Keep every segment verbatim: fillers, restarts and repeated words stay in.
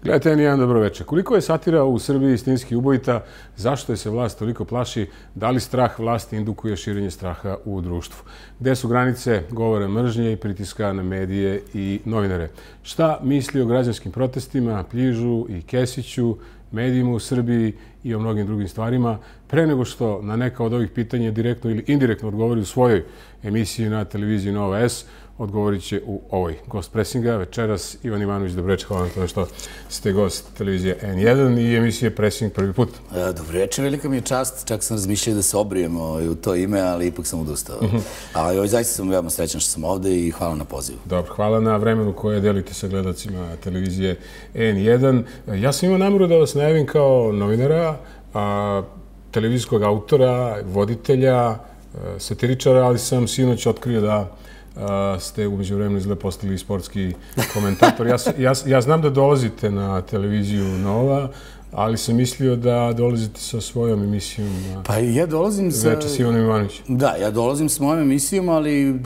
Gledajte, N jedan, dobro večer. Koliko je satira u Srbiji istinski ubojita? Zašto je se vlast toliko plaši? Da li strah vlasti indukuje širenje straha u društvu? Gde su granice govora mržnje i pritiska na medije i novinare? Šta misli o građanskim protestima, Pljižu i Kesiću, medijima u Srbiji i o mnogim drugim stvarima? Pre nego što na neka od ovih pitanja direktno ili indirektno odgovori u svojoj emisiji na televiziji Nova S, odgovorit će u ovoj Gost Pressinga. Večeras Ivan Ivanović, dobro večer, hvala na to što ste gost televizije N jedan i emisije Pressing prvi put. Dobro večer, velika mi je čast, čak sam razmišljao da se obrijem u to ime, ali ipak sam odustao. Ali zaista sam veoma srećan što sam ovde i hvala na pozivu. Dobro, hvala na vremenu koje delite sa gledacima televizije N jedan. Ja sam imao nameru da vas najavim kao novinara, televizijskog autora, voditelja, satiričara, ali sam sinoć otkrio da ste umeđu vremenu izgleda postali sportski komentator. Ja, ja, ja znam da dolazite na televiziju Nova, ali sam mislio da dolazite sa svojom emisijom na pa ja dolazim sa... Večer s Ivanom Ivanovićem. Da, ja dolazim s mojom emisijom, ali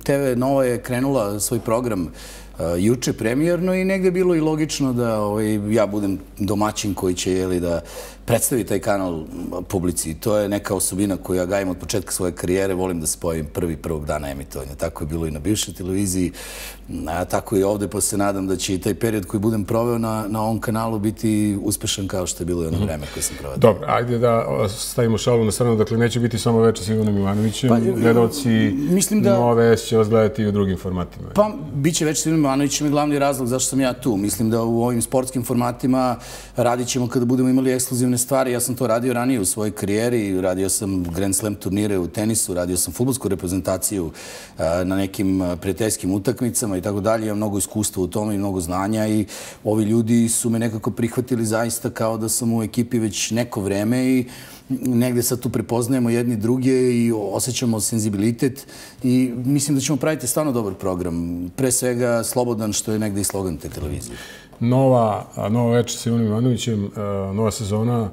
T V Nova je krenula svoj program uh, juče premijerno i negde je bilo i logično da ovaj, ja budem domaćin koji će jeli, da predstavi taj kanal publici. To je neka osobina koju ja gajim od početka svoje karijere. Volim da se pojavim prvi prvog dana emitovanja. Tako je bilo i na bivšoj televiziji, a tako i ovde, pa se nadam da će i taj period koji budem proveo na, na ovom kanalu biti uspešan kao što je bilo i ono vreme koje sam proveo. Dobro, ajde da stavimo šalu na stranu. Dakle, neće biti samo Večer s Ivanom Ivanovićem. Pa, gledalci da, Nove S će vas gledati i u drugim formatima. Pa, bit će Večer s Ivanom Ivanovićem je glavni razlog zašto sam ja tu. Mislim da u ovim sportskim formatima radit ćemo kada budemo imali ekskluzivne stvari. Ja sam to radio ranije u svojoj karijeri, radio sam Grand Slam turnire u tenisu, radio sam fudbalsku reprezentaciju na nekim prijateljskim utakmicama i tako dalje. Imam mnogo iskustva u tome i mnogo znanja i ovi ljudi su me nekako prihvatili zaista kao da sam u ekipi već neko vreme i negde sad tu prepoznajemo jedni druge i osjećamo senzibilitet i mislim da ćemo praviti stvarno dobar program. Pre svega slobodan, što je negde i slogan te televizije. Nova, Nova Večer s Ivanom Ivanovićem, nova sezona,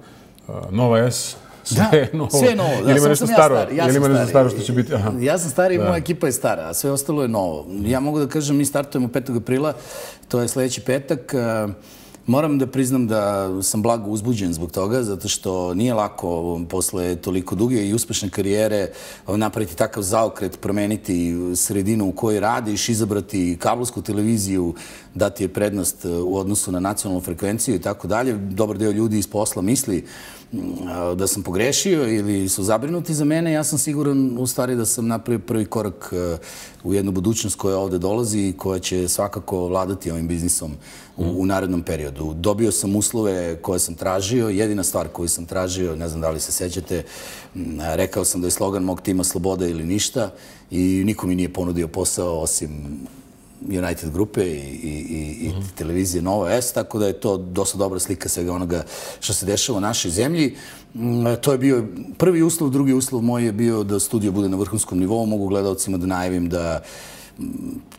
Nova S, sve je novo. Sve je novo, da, ili ima nešto staro, ili ima nešto staro što će biti... Ja sam stari i moja ekipa je stara, a sve ostalo je novo. Ja mogu da kažem, mi startujemo petog aprila, to je sledeći petak. Moram da priznam da sam blago uzbuđen zbog toga, zato što nije lako posle toliko duge i uspešne karijere napraviti takav zaokret, promeniti sredinu u kojoj radiš, izabrati kablovsku televiziju, dati je prednost u odnosu na nacionalnu frekvenciju i tako dalje. Dobar deo ljudi iz posla misli da sam pogrešio ili su zabrinuti za mene. Ja sam siguran u stvari da sam napravio prvi korak u jednu budućnost koja ovde dolazi i koja će svakako vladati ovim biznisom u, u narednom periodu. Dobio sam uslove koje sam tražio. Jedina stvar koju sam tražio, ne znam da li se sećate, rekao sam da je slogan mog tima sloboda ili ništa i niko mi nije ponudio posao osim United grupe i, i, i televizije Nova S, tako da je to dosta dobra slika svega onoga što se dešava u našoj zemlji. To je bio prvi uslov, drugi uslov moj je bio da studio bude na vrhunskom nivou. Mogu gledalcima da najavim da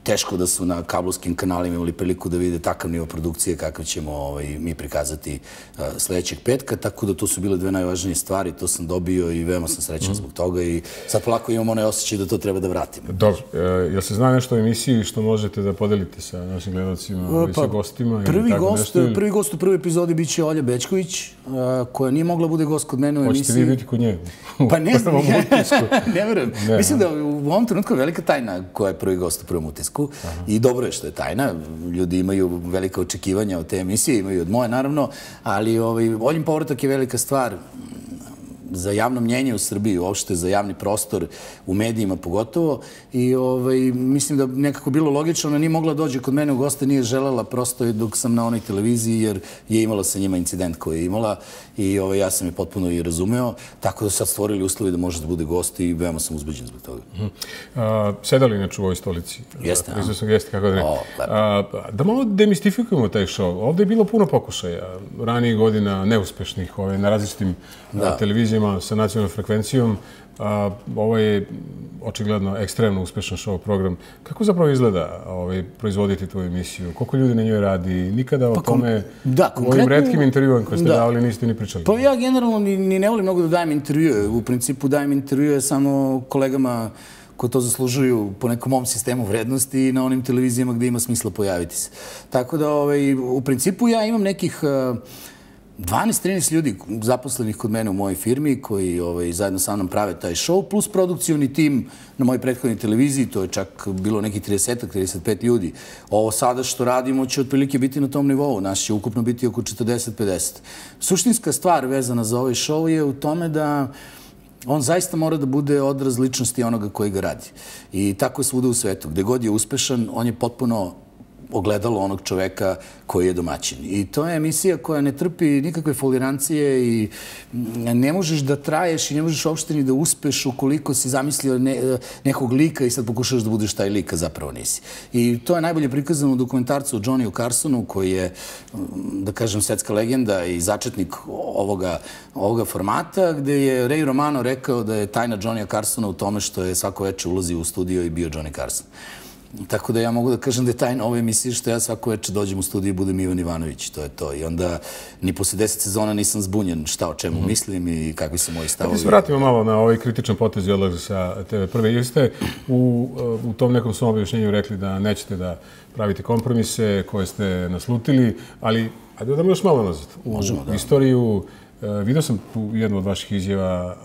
teško da su na kablovskim kanalima imali priliku da vide takav nivo produkcije kakav ćemo ovaj, mi prikazati uh, sledećeg petka, tako da to su bile dve najvažnije stvari, to sam dobio i veoma sam srećan mm. zbog toga i sad polako imam onaj osjećaj da to treba da vratimo. Dobro, e, jel se zna nešto o emisiji što možete da podelite sa našim gledalcima i pa, sa gostima? Prvi, tako gost, nešto, ili... prvi gost u prvoj epizodi bit će Olja Bečković, uh, koja nije mogla bude gost kod mene u emisiji. Hoćete vi biti kod nje? Pa ne znam, ne verujem. Mislim da u ovom trenutku je velika tajna koja je prvi gost u prvom utisku. Aha. I dobro je što je tajna. Ljudi imaju velika očekivanja od te emisije, imaju od moje naravno, ali ovaj, Oljin povratak je velika stvar za javno mnjenje u Srbiji, uopšte za javni prostor, u medijima pogotovo. I ovaj, mislim da nekako bilo logično, ona nije mogla dođe kod mene u goste, nije želela prosto dok sam na onoj televiziji, jer je imala sa njima incident koji je imala i ovaj, ja sam je potpuno i razumeo, tako da su sad stvorili uslovi da može da bude gost i veoma sam uzbuđen zbog toga. Uh -huh. Sedali inače u ovoj stolici? Jeste. Prisutnog jeste, kako da ne. Da malo demistifikujemo taj show. Ovde je bilo puno pokušaja ranijih godina neuspešnih na različitim televizijama sa nacionalnom frekvencijom. Ovo je očigledno ekstremno uspešan show program. Kako zapravo izgleda proizvoditi tu emisiju? Koliko ljudi na njoj radi? Nikada o tome u ovim retkim intervjuama koje ste davali niste ni pričali? Pa ja generalno ni ne volim mnogo da dajem intervjue. U principu dajem intervjue samo kolegama koji to zaslužuju po nekom mom sistemu vrednosti i na onim televizijama gde ima smisla pojaviti se. Tako da, ovaj, u principu ja imam nekih dvanaest trinaest ljudi zaposlenih kod mene u mojoj firmi koji ovaj, zajedno sa mnom prave taj show, plus produkcioni tim na mojoj prethodnoj televiziji, to je čak bilo nekih trideset trideset pet ljudi. Ovo sada što radimo će otprilike biti na tom nivou, nas će ukupno biti oko četrdeset pedeset. Suštinska stvar vezana za ovaj show je u tome da on zaista mora da bude odraz ličnosti onoga koji ga radi. I tako je svuda u svetu. Gde god je uspešan, on je potpuno ogledalo onog čoveka koji je domaćin. I to je emisija koja ne trpi nikakve folirancije i ne možeš da traješ i ne možeš uopšte ni da uspeš ukoliko si zamislio nekog lika i sad pokušaš da budeš taj lik, a zapravo nisi. I to je najbolje prikazano u dokumentarcu o Johnnyju Carsonu, koji je, da kažem, svetska legenda i začetnik ovoga, ovoga formata, gde je Ray Romano rekao da je tajna Johnnyja Carsona u tome što je svako veče ulazio u studio i bio Johnny Carson. Tako da ja mogu da kažem da je tajna ove emisije što ja svako večer dođem u studiju i budem Ivan Ivanović, to je to. I onda ni posle deset sezona nisam zbunjen šta o čemu mislim i kakvi su moji stavovi. Da se vratimo malo na ovaj kritičan potez i odlazak sa te ve prve. Jer ste u, u tom nekom svom objašnjenju rekli da nećete da pravite kompromise koje ste naslutili, ali ajde da još malo nazad. U Možemo, da. Istoriju, vidio sam jednu od vaših izjava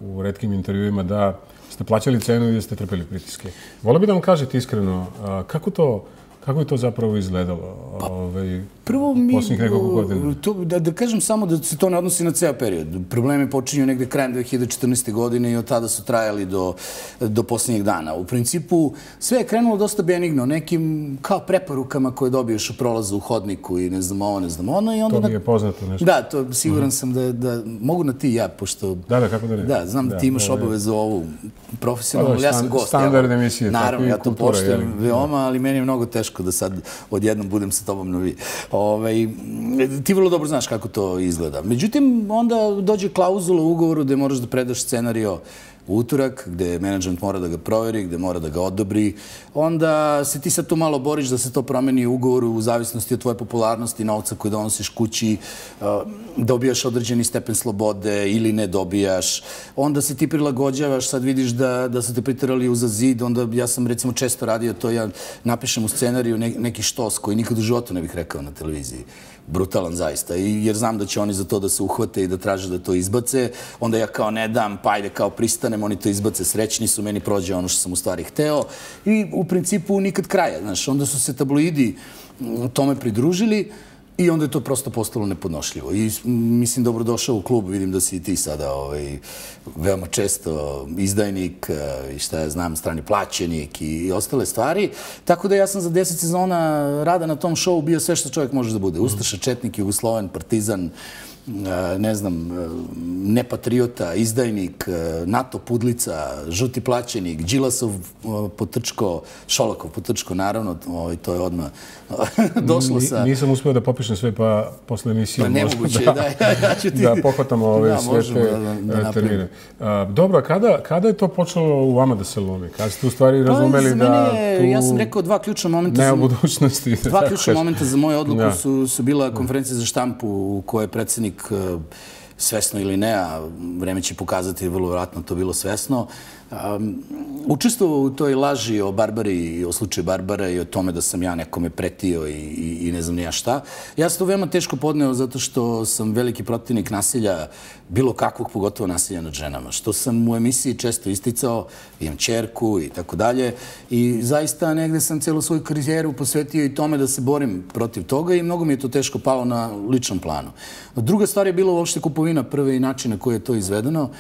u retkim intervjuima da ste plaćali cenu i da ste trpeli pritiske. Volio bih da vam kažete iskreno, kako to, kako je to zapravo izgledalo ovaj, prvo mi, posljednjih nekoliko godina? To, da, da kažem samo da se to ne odnosi na ceo period. Problemi počinju negde krajem dve hiljade četrnaeste. godine i od tada su trajali do, do posljednjeg dana. U principu sve je krenulo dosta benigno, nekim kao preporukama koje dobiješ u prolazu u hodniku i ne znam ovo, ne znam ono. I onda to mi je poznato nešto. Da, to siguran sam da, da mogu na ti ja, pošto... Da, da, kako da ne. Da, znam da ti imaš obavezu ovu profesionalnu, ali ja sam gost. Standard emisije. Naravno, ja to poštujem veoma, ali meni je mnogo teško da sad odjednom budem sa tobom na vi. Ovaj, ti vrlo dobro znaš kako to izgleda. Međutim, onda dođe klauzula u ugovoru gde moraš da predaš scenario u utorak, gde menadžment mora da ga proveri, gde mora da ga odobri. Onda se ti sad tu malo boriš da se to promeni u ugovoru u zavisnosti od tvoje popularnosti, novca koji donosiš kući, dobijaš određeni stepen slobode ili ne dobijaš. Onda se ti prilagođavaš, sad vidiš da, da su te priterali uza zid, onda ja sam recimo često radio to, ja napišem u scenariju neki štos koji nikad u životu ne bih rekao na televiziji. Brutalan zaista, jer znam da će oni za to da se uhvate i da traže da to izbace. Onda ja kao ne dam, pa ajde kao pristanem, oni to izbace, srećni su, meni prođe ono što sam u stvari hteo. I u principu nikad kraja, znaš. Onda su se tabloidi tome pridružili i onda je to prosto postalo nepodnošljivo. I mislim, dobrodošao u klub, vidim da si i ti sada ovaj, veoma često izdajnik i šta ja znam, strani plaćenik i ostale stvari. Tako da ja sam za deset sezona rada na tom showu bio sve što čovjek može da bude. Ustaša, četnik, Jugosloven, Partizan, ne znam, nepatriota, izdajnik, NATO pudlica, žuti plaćenik, Đilasov potrčko, Šolakov potrčko, naravno, to je odmah došlo sa... Nisam uspio da popišem sve, pa posle emisije pa nemoguće je, da, ja ću ti... Da pohvatamo ove sve te termine. Dobro, kada, kada je to počelo u vama da se lomi? Kada ste u stvari razumeli da tu... Ja sam rekao dva ključna momenta... Nema budućnosti. Dva ključna momenta za moju odluku su, su bila konferencija za štampu u kojoj je predsjednik svesno ili ne, a vreme će pokazati, vrlo vjerojatno to bilo svesno, učestvovao u toj laži o Barbari, o slučaju Barbara i o tome da sam ja nekome pretio i, i, i ne znam ni ja šta. Ja sam to veoma teško podneo zato što sam veliki protivnik nasilja, bilo kakvog, pogotovo nasilja nad ženama. Što sam u emisiji često isticao, imam ćerku i tako dalje. I zaista negde sam celu svoju karijeru posvetio i tome da se borim protiv toga i mnogo mi je to teško palo na ličnom planu. Druga stvar je bila uopšte kupovina prve i način na koji je to izvedeno.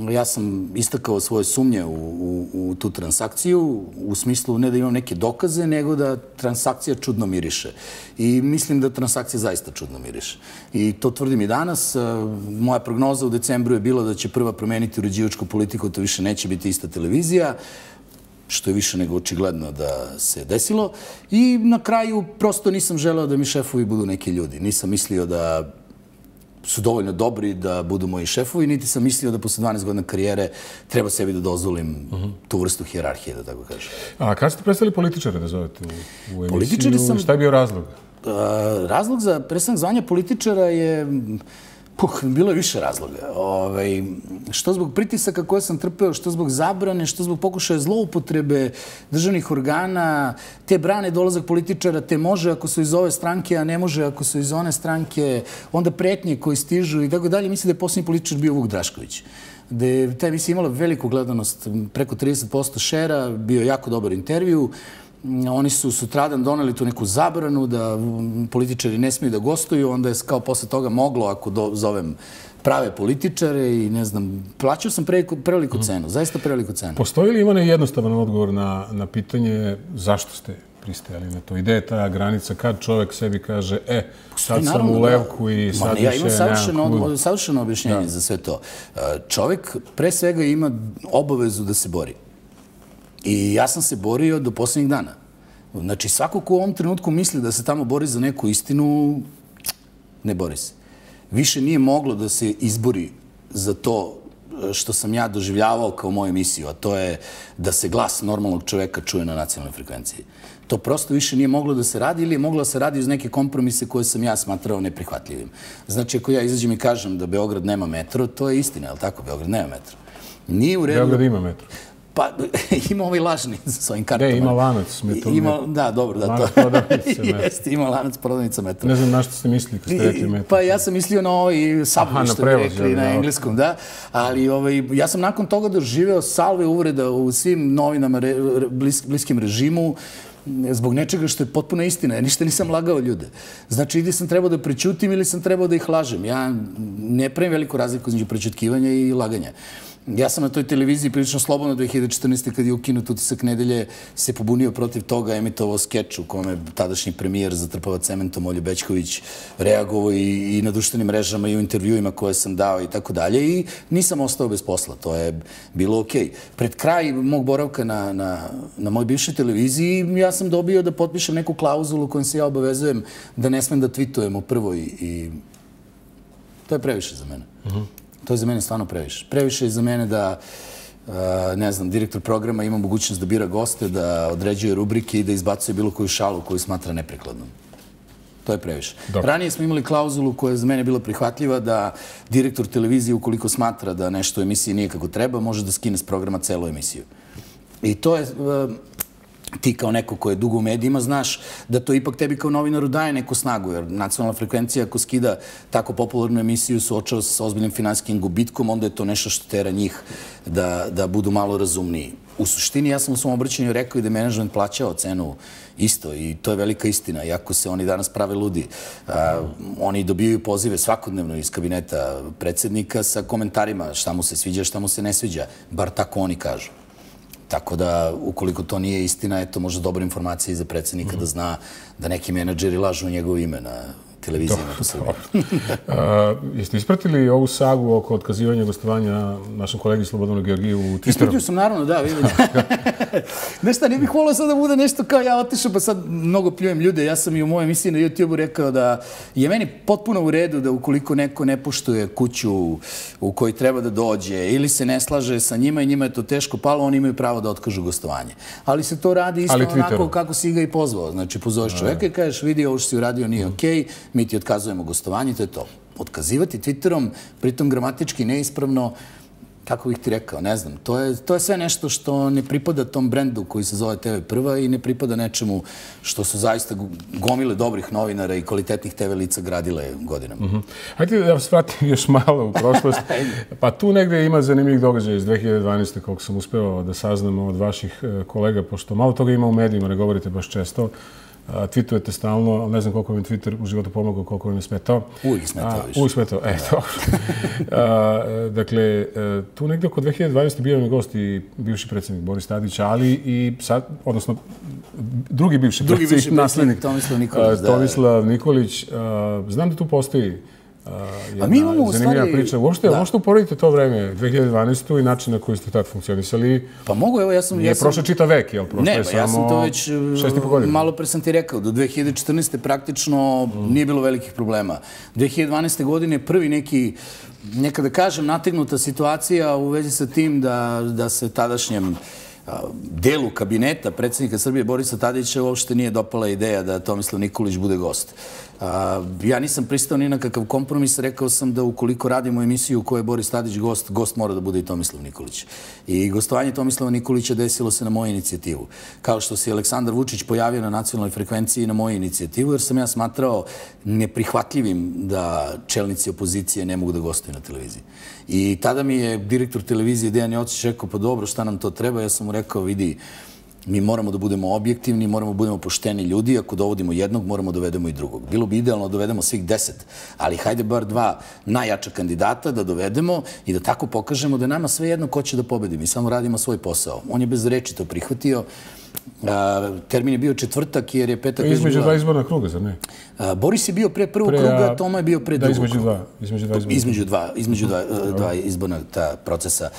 Ja sam istakao svoje sumnje u, u, u tu transakciju, u smislu ne da imam neke dokaze, nego da transakcija čudno miriše. I mislim da transakcija zaista čudno miriše. I to tvrdim i danas. Moja prognoza u decembru je bila da će prva promeniti uređivačku politiku, to više neće biti ista televizija, što je više nego očigledno da se desilo. I na kraju prosto nisam želeo da mi šefovi budu neki ljudi. Nisam mislio da su dovoljno dobri da budu moji šefovi, niti sam mislio da posle dvanaest godina karijere treba sebi da dozvolim tu vrstu hijerarhije, da tako kažem. A kada ste prestali političare da zovete u, u emisiju? Sam, šta je bio razlog? A, razlog za prestanak zvanja političara je Puh, bilo je više razloga. Ove, što zbog pritisaka koje sam trpeo, što zbog zabrane, što zbog pokušaja zloupotrebe državnih organa, te brane dolazak političara, te može ako su iz ove stranke, a ne može ako su iz one stranke, onda pretnje koji stižu i tako dalje. Mislim da je posljednji političar bio Vuk Drašković. Da je ta emisija imala veliku gledanost, preko trideset posto šera, bio jako dobar intervju. Oni su sutradan doneli tu neku zabranu da političari ne smiju da gostuju, onda je kao posle toga moglo, ako zovem prave političare i ne znam, plaćao sam preveliku cenu, zaista preveliku cenu. Postoji li Ivane jednostavan odgovor na, na pitanje zašto ste pristajali na to? Ideja je ta granica kad čovjek sebi kaže, e, sad sam u levku i sad više ja imam savršeno, kud. savršeno objašnjenje da. za sve to. Čovjek pre svega ima obavezu da se bori. I ja sam se borio do posljednjih dana. Znači, svako ko u ovom trenutku misli da se tamo bori za neku istinu, ne bori se. Više nije moglo da se izbori za to što sam ja doživljavao kao moju emisiju, a to je da se glas normalnog čoveka čuje na nacionalnoj frekvenciji. To prosto više nije moglo da se radi ili je moglo da se radi uz neke kompromise koje sam ja smatrao neprihvatljivim. Znači, ako ja izađem i kažem da Beograd nema metro, to je istina, je li tako? Beograd nema metro. Nije u redu... Beograd ima metro. Pa, ima ovaj lažni sa ovim kartama. Ne, ima lanac metro. Da, dobro, da, to. Lanac prodavnice metro. Jeste, ima lanac prodavnica metro. Ne znam na što ste mislili kad ste rekli metro. Pa ja sam mislio na ovaj subway, što bi rekli na engleskom, da. Ali ja sam nakon toga doživeo salve uvreda u svim novinama bliskim režimu zbog nečega što je potpuno istina. Ja ništa nisam lagao ljude. Znači, ili sam trebao da prećutim ili sam trebao da ih lažem. Ja ne pravim veliku razliku između prećutkivanja i laganja. Ja sam na toj televiziji prilično slobodno dve hiljade četrnaeste. kad je ukinut Utisak nedelje se pobunio protiv toga, emitovao skeč u kome tadašnji premijer zatrpava cementom Olju Bećković reagovao i, i na društvenim mrežama i u intervjuima koje sam dao i tako dalje i nisam ostao bez posla. To je bilo okej. Pred kraj mog boravka na, na, na moj bivšoj televiziji ja sam dobio da potpišem neku klauzulu kojom se ja obavezujem da ne smem da tweetujem u prvoj i to je previše za mene. Uh-huh. To je za mene stvarno previše. Previše je za mene da, ne znam, direktor programa ima mogućnost da bira goste, da određuje rubrike i da izbacuje bilo koju šalu koju smatra neprikladnom. To je previše. Dobro. Ranije smo imali klauzulu koja je za mene bila prihvatljiva da direktor televizije, ukoliko smatra da nešto u emisiji nije kako treba, može da skine s programa celu emisiju. I to je... ti kao neko ko je dugo u medijima, znaš da to ipak tebi kao novinaru daje neku snagu, jer nacionalna frekvencija ako skida tako popularnu emisiju suočava se sa ozbiljnim finansijskim gubitkom, onda je to nešto što tera njih da, da budu malo razumniji. U suštini, ja sam u svom obraćanju rekao i da je menadžment plaćao cenu isto i to je velika istina. Iako se oni danas prave ludi, a, oni dobijaju pozive svakodnevno iz kabineta predsjednika sa komentarima šta mu se sviđa, šta mu se ne sviđa. Bar tako oni kažu. Tako da, ukoliko to nije istina, eto, možda dobra informacija i za predsjednika da zna da neki menadžeri lažu njegovo ime na televizijama po Srbiji. Jeste ispratili ovu sagu oko otkazivanja gostovanja našem kolegi Slobodanu Georgiju u Twitteru? Ispratio sam, naravno, da, vidim. Znaš šta, ne bih volio sad da bude nešto kao ja otišao, pa sad mnogo pljujem ljude. Ja sam i u mojoj emisiji na YouTube-u rekao da je meni potpuno u redu da ukoliko neko ne poštuje kuću u kojoj treba da dođe ili se ne slaže sa njima i njima je to teško palo, oni imaju pravo da otkažu gostovanje. Ali se to radi isto onako kako si ga i pozvao. Znači, pozoveš čoveka i kažeš, vidi, ovo što si uradio nije okej, mi ti otkazujemo gostovanje, to je to. Otkazivati Twitterom, pritom gramatički neispravno, kako bih ti rekao, ne znam, to je, to je sve nešto što ne pripada tom brendu koji se zove T V Prva i ne pripada nečemu što su zaista gomile dobrih novinara i kvalitetnih T V lica gradile godinama. Mm-hmm. Hajde da vas vratim još malo u prošlost. Pa tu negde ima zanimljivih događaja iz dve hiljade dvanaeste. koliko sam uspeo da saznam od vaših kolega, pošto malo toga ima u medijima, ne govorite baš često. Tweetujete stalno, ali ne znam koliko vam je Twitter u životu pomogao, koliko vam je smetao. Uvijek smetao više. Uvijek smetao, e, dobro. Dakle, tu negdje oko dve hiljade dvanaeste. bio je gost i bivši predsjednik Boris Tadić, ali i sad, odnosno, drugi bivši predsjednik, naslednik Tomislav Nikolić. Tomislav Nikolić. Znam da tu postoji jedna zanimljiva priča. Uopšte uporedite to vreme, dve hiljade dvanaestu. i način na koji ste tad funkcionisali. Pa mogu, evo, ja sam... Nije prošlo čitav vek, jel? Ne, pa ja sam to već... Malo pre sam ti rekao, do dve hiljade četrnaeste. praktično nije bilo velikih problema. dve hiljade dvanaeste. godine prvi neki, nekada kažem, nategnuta situacija u vezi sa tim da se tadašnjem delu kabineta predsjednika Srbije Borisa Tadića uopšte nije dopala ideja da Tomislav Nikolić bude gost. Ja nisam pristao ni na kakav kompromis, rekao sam da ukoliko radimo emisiju u kojoj je Boris Tadić gost, gost mora da bude i Tomislav Nikolić. I gostovanje Tomislava Nikolića desilo se na moju inicijativu. Kao što se Aleksandar Vučić pojavio na nacionalnoj frekvenciji na moju inicijativu, jer sam ja smatrao neprihvatljivim da čelnici opozicije ne mogu da gostuju na televiziji. I tada mi je direktor televizije Dejan Jocić rekao, pa dobro, šta nam to treba? Ja sam mu rekao, vidi, mi moramo da budemo objektivni, moramo da budemo pošteni ljudi. Ako dovodimo jednog, moramo da dovedemo i drugog. Bilo bi idealno da dovedemo svih deset, ali hajde bar dva najjača kandidata da dovedemo i da tako pokažemo da je nama sve jedno ko će da pobedi. Mi samo radimo svoj posao. On je bez reči to prihvatio. Termin je bio četvrtak jer je petak... Između dva izborna kruga, zar ne? Boris je bio pre prvog kruga, Toma je bio pre drugog kruga. Između dva. Između dva. Između dva izborna procesa.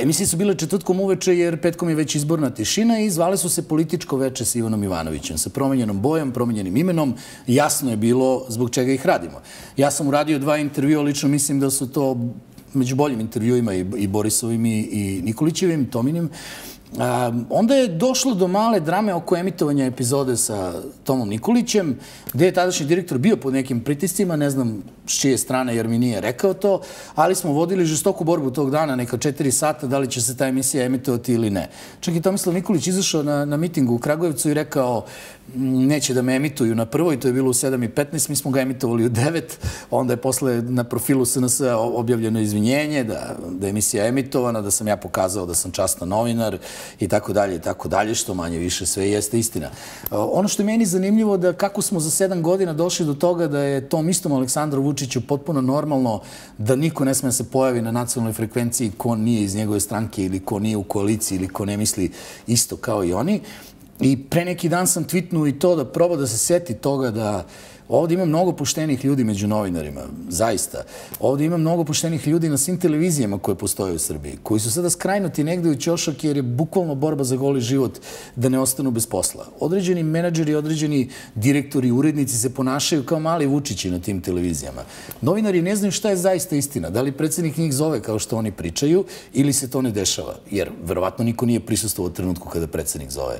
Emisije su bile četvrtkom uveče jer petkom je već izborna tišina i zvale su se Političko veče sa Ivanom Ivanovićem. Sa promenjenom bojom, promenjenim imenom. Jasno je bilo zbog čega ih radimo. Ja sam uradio dva intervjua, lično mislim da su to među boljim intervjuima i Borisovim i Nikolićevim, Tominim. Onda je došlo do male drame oko emitovanja epizode sa Tomom Nikolićem, gde je tadašnji direktor bio pod nekim pritiscima, ne znam s čije strane jer mi nije rekao to, ali smo vodili žestoku borbu tog dana, neka četiri sata, da li će se ta emisija emitovati ili ne. Čak i Tomislav Nikolić izašao na, na mitingu u Kragujevcu i rekao neće da me emituju na prvoj, to je bilo u sedam i petnaest, mi smo ga emitovali u devet, onda je posle na profilu S N S objavljeno izvinjenje da, da je emisija emitovana, da sam ja pokazao da sam častan novinar i tako dalje i tako dalje, što manje više sve jeste istina. Ono što je meni zanimljivo da kako smo za sedam godina došli do toga da je tom istom Aleksandru Vučiću potpuno normalno da niko ne sme da se pojavi na nacionalnoj frekvenciji ko nije iz njegove stranke ili ko nije u koaliciji ili ko ne misli isto kao i oni. I pre neki dan sam tweetnuo i to da proba da se seti toga da ovdje ima mnogo poštenih ljudi među novinarima, zaista. Ovdje ima mnogo poštenih ljudi na svim televizijama koje postoje u Srbiji, koji su sada skrajnuti negde u ćošak jer je bukvalno borba za goli život da ne ostanu bez posla. Određeni menadžeri, određeni direktori, urednici se ponašaju kao mali Vučići na tim televizijama. Novinari ne znaju šta je zaista istina. Da li predsjednik njih zove kao što oni pričaju ili se to ne dešava. Jer verovatno niko nije prisustvovao u trenutku kada predsjednik zove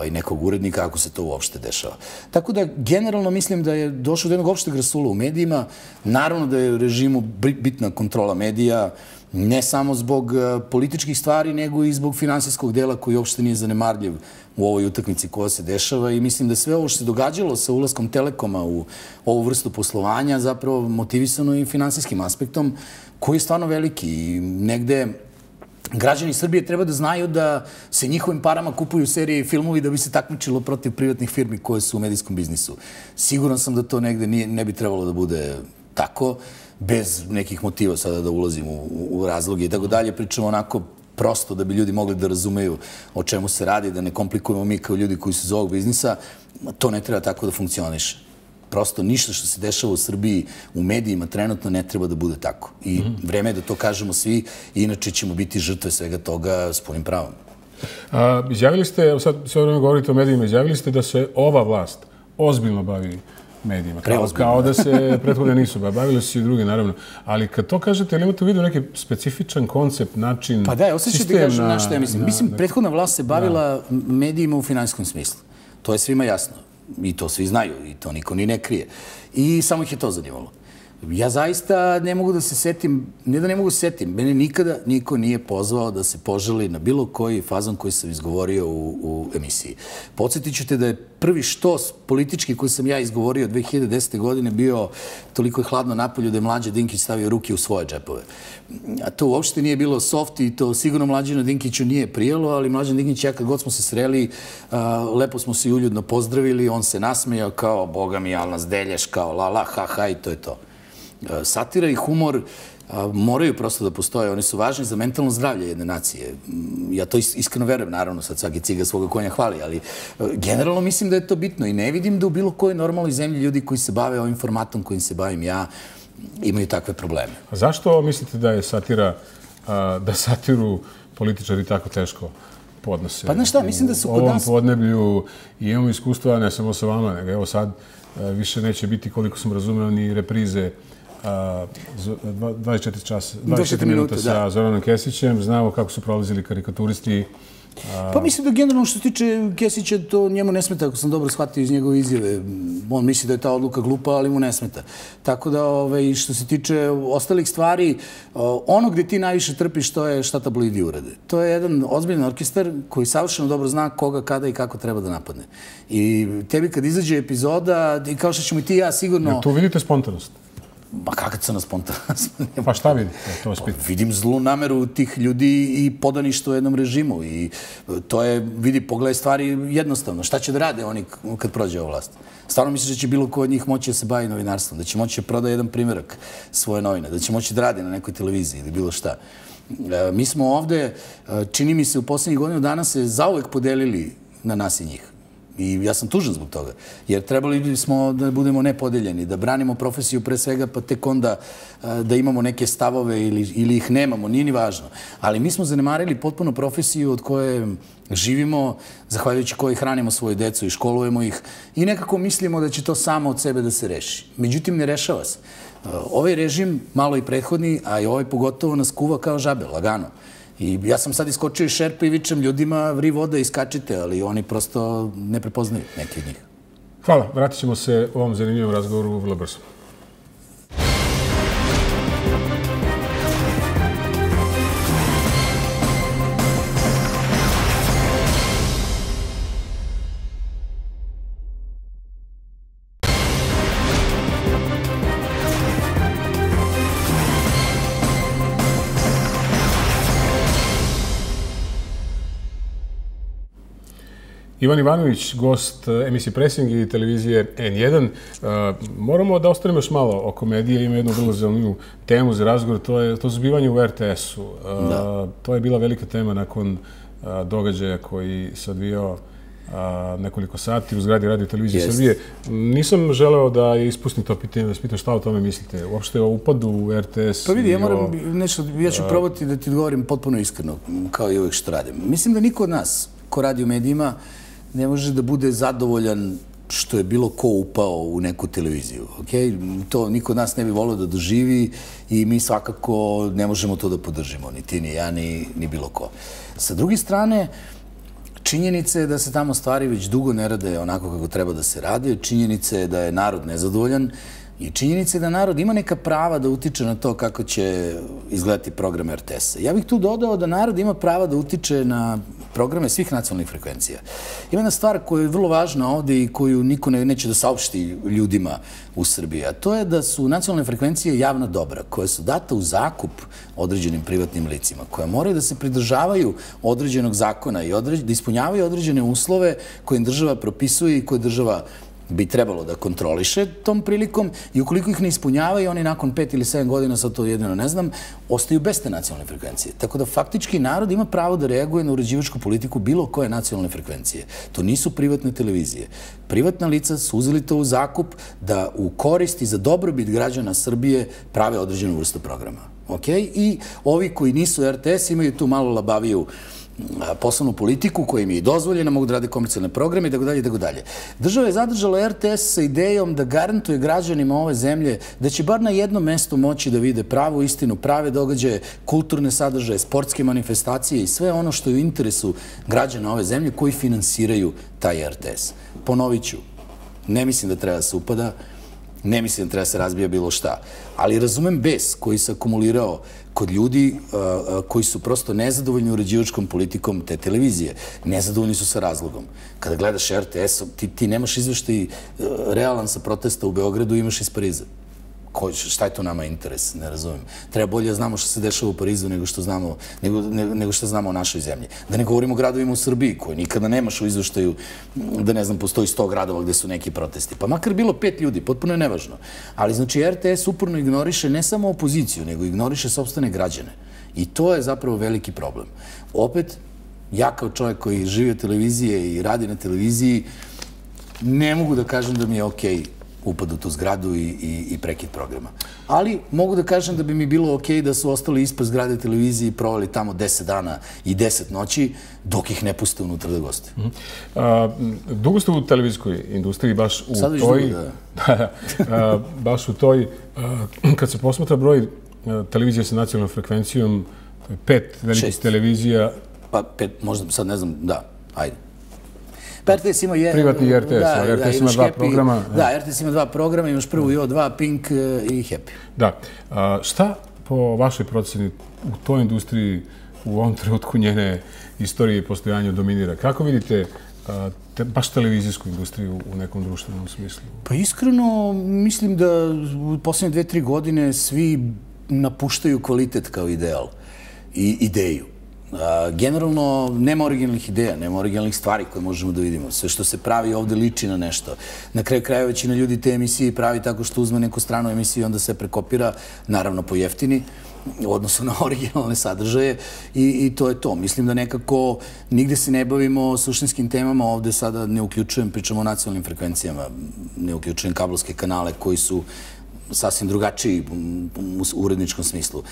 i nekog urednika ako se to uopšte dešava. Tako da generalno mislim da je došlo do jednog opšteg rasula u medijima. Naravno da je režimu bitna kontrola medija, ne samo zbog političkih stvari, nego i zbog finansijskog dela koji uopšte nije zanemarljiv u ovoj utakmici koja se dešava i mislim da sve ovo što se događalo sa ulaskom Telekoma u ovu vrstu poslovanja zapravo motivisano i finansijskim aspektom koji je stvarno veliki i negde građani Srbije treba da znaju da se njihovim parama kupuju serije i filmovi da bi se takmičilo protiv privatnih firmi koje su u medijskom biznisu. Siguran sam da to negde ne bi trebalo da bude tako, bez nekih motiva sada da ulazim u razloge i tako dalje. Pričamo onako prosto da bi ljudi mogli da razumeju o čemu se radi, da ne komplikujemo mi kao ljudi koji su iz ovog biznisa. To ne treba tako da funkcioniše. Prosto ništa što se dešava u Srbiji u medijima trenutno ne treba da bude tako. I vreme je da to kažemo svi, inače ćemo biti žrtve svega toga s punim pravom. Izjavili ste, evo sad sve vreme govorite o medijima, izjavili ste da se ova vlast ozbiljno bavi medijima. Kao da se prethodne nisu bavili su i drugi, naravno. Ali kad to kažete, ili imate u vidu neki specifičan koncept, način, pa da, osjećate kažem na što ja mislim. Mislim, prethodna vlast se bavila medijima u finansijskom smislu. To je svima jasno. I to svi znaju, i to niko ni ne krije. I samo ih je to zanimalo. Ja zaista ne mogu da se setim, ne da ne mogu da se setim, mene nikada niko nije pozvao da se požali na bilo koji fazon koji sam izgovorio u, u emisiji. Podsjetit ću te da je prvi štos politički koji sam ja izgovorio dve hiljade desete. godine bio toliko je hladno napolju da je Mlađa Dinkić stavio ruke u svoje džepove. A to uopšte nije bilo soft i to sigurno Mlađanu Dinkiću nije prijelo, ali Mlađan Dinkić, ja kad god smo se sreli, lepo smo se uljudno pozdravili, on se nasmejao kao, boga mi, al nas delješ, kao la la, ha ha i to je to. Satira i humor moraju prosto da postoje. Oni su važni za mentalno zdravlje jedne nacije. Ja to iskreno verujem, naravno, sad svaki ciga svoga konja hvali, ali generalno mislim da je to bitno i ne vidim da u bilo kojoj normalnoj zemlji ljudi koji se bave ovim formatom kojim se bavim ja imaju takve probleme. A zašto mislite da je satira, da satiru političari tako teško podnose? Pa znaš šta, mislim da su kod nas... U ovom podneblju i imamo iskustva, ne samo sa vama, nego evo sad više neće biti, koliko sam razumeo, ni reprize dvadeset četiri minuta sa Zoranom Kesićem. Znamo kako su prolazili karikaturisti Pa mislim da generalno što se tiče Kesića, to njemu ne smeta, ako sam dobro shvatio iz njegove izjave. On misli da je ta odluka glupa, ali mu ne smeta. Tako da, što se tiče ostalih stvari, ono gde ti najviše trpiš, to je šta tabloidi urade. To je jedan ozbiljan orkestar koji savršeno dobro zna koga, kada i kako treba da napadne. I tebi kad izađe epizoda, i kao što ćemo i ti i ja sigurno... Tu vidite spontanost? Ma kakva crna spontanost? Pa šta vidite? Vidim zlu nameru tih ljudi i podaništvo jednom režimu. I to je, vidi, pogledaj stvari jednostavno. Šta će da rade oni kad prođe ova vlast? Stvarno misliš da će bilo ko od njih moći da se bavi novinarstvom, da će moći da proda jedan primjerak svoje novine, da će moći da radi na nekoj televiziji ili bilo šta. Mi smo ovde, čini mi se, u poslednjih godinu dana se zauvek podelili na nas i njih. I ja sam tužan zbog toga, jer trebali bismo da budemo nepodeljeni, da branimo profesiju pre svega, pa tek onda da imamo neke stavove ili ih nemamo, nije ni važno. Ali mi smo zanemarili potpuno profesiju od koje živimo, zahvaljujući koje hranimo svoju decu i školujemo ih i nekako mislimo da će to samo od sebe da se reši. Međutim, ne rešava se. Ovaj režim, malo i prethodni, a i ovaj pogotovo nas kuva kao žabe, lagano. I ja sam sad iskočio iz šerpe i vičem ljudima vri voda, iskačite, ali oni prosto ne prepoznaju neki od njih. Hvala. Vratit ćemo se u ovom zanimljivom razgovoru vrlo brzo. Ivan Ivanović, gost emisije Presing i televizije N jedan. Moramo da ostanemo još malo oko medije. Ima jednu vrlo zanimljivu temu za razgovor. To je to zbivanje u R T S-u. To je bila velika tema nakon događaja koji se odvijao nekoliko sati u zgradi Radio Televizije Srbije. Nisam želeo da ispustim to pitanje, da spitam šta o tome mislite. Uopšte o upadu u R T S. Pa vidi, ja moram nešto, ja ću probati da ti odgovorim potpuno iskreno, kao i uvek što radim. Mislim da niko od nas, ko radi u medijima, ne može da bude zadovoljan što je bilo ko upao u neku televiziju. To niko od nas ne bi volio da doživi i mi svakako ne možemo to da podržimo, ni ti, ni ja, ni bilo ko. Sa druge strane, činjenica je da se tamo stvari već dugo ne rade onako kako treba da se rade, činjenica je da je narod nezadovoljan i činjenica je da narod ima neka prava da utiče na to kako će izgledati program R T S-a. Ja bih tu dodao da narod ima prava da utiče na programe svih nacionalnih frekvencija. Ima jedna stvar koja je vrlo važna ovde i koju niko neće da saopšti ljudima u Srbiji, a to je da su nacionalne frekvencije javna dobra, koje su data u zakup određenim privatnim licima, koja moraju da se pridržavaju određenog zakona i da ispunjavaju određene uslove koje im država propisuje i koje država bi trebalo da kontroliše tom prilikom i ukoliko ih ne ispunjavaju, oni nakon pet ili sedam godina, sad to jedino ne znam, ostaju bez te nacionalne frekvencije. Tako da faktički narod ima pravo da reaguje na uređivačku politiku bilo koje nacionalne frekvencije. To nisu privatne televizije. Privatna lica su uzeli to u zakup da u korist i za dobrobit građana Srbije prave određenu vrstu programa. I ovi koji nisu R T S imaju tu malo labaviju poslovnu politiku koja im je dozvoljena, mogu da rade komercijalne programe i tako dalje i tako dalje. Država je zadržala R T S sa idejom da garantuje građanima ove zemlje da će bar na jednom mestu moći da vide pravu istinu, prave događaje, kulturne sadržaje, sportske manifestacije i sve ono što je u interesu građana ove zemlje koji finansiraju taj R T S. Ponovit ću, ne mislim da treba da se upada, ne mislim da treba da se razbija bilo šta, ali razumem bes koji se akumulirao kod ljudi koji su prosto nezadovoljni uređivačkom politikom te televizije. Nezadovoljni su sa razlogom. Kada gledaš R T S, ti nemaš izveštaj realan sa protesta u Beogradu, imaš iz Pariza. Šta je to nama interes? Ne razumem. Treba bolje da znamo što se dešava u Parizu nego što znamo o našoj zemlji. Da ne govorimo o gradovima u Srbiji, koje nikada nemaš u izveštaju da, ne znam, postoji sto gradova gde su neki protesti. Pa makar bilo pet ljudi, potpuno je nevažno. Ali znači R T S uporno ignoriše ne samo opoziciju, nego ignoriše sopstvene građane. I to je zapravo veliki problem. Opet, ja kao čovjek koji živi od televizije i radi na televiziji, ne mogu da kažem da mi je okej upad u tu zgradu i prekid programa. Ali mogu da kažem da bi mi bilo okej da su ostali ispred zgrade televizije i provali tamo deset dana i deset noći dok ih ne puste unutra da goste. Dugo ste u televizijskoj industriji, baš u toj... Baš u toj... Kad se posmatra broj televizija sa nacionalnom frekvencijom, pet velikih televizija pa pet, možda sad ne znam, da, ajde. Pa R T S ima je... Privatni R T S, ali R T S ima dva programa. Da, R T S ima dva programa, imaš prvu i O dva, Pink i Happy. Da. Šta po vašoj proceni u toj industriji u ovom trenutku njene istorije i postojanja dominira? Kako vidite baš televizijsku industriju u nekom društvenom smislu? Pa iskreno, mislim da u posljednje dve, tri godine svi napuštaju kvalitet kao ideal i ideju. Generalno, nema originalnih ideja, nema originalnih stvari koje možemo da vidimo. Sve što se pravi ovde liči na nešto. Na kraju krajeva većina ljudi te emisije pravi tako što uzme neku stranu emisiju i onda se prekopira, naravno po jeftini, u odnosu na originalne sadržaje i to je to. Mislim da nekako nigde se ne bavimo suštinskim temama, ovde sada ne uključujem, pričamo o nacionalnim frekvencijama, ne uključujem kablovske kanale koji su sasvim drugačiji u uredničkom smislu.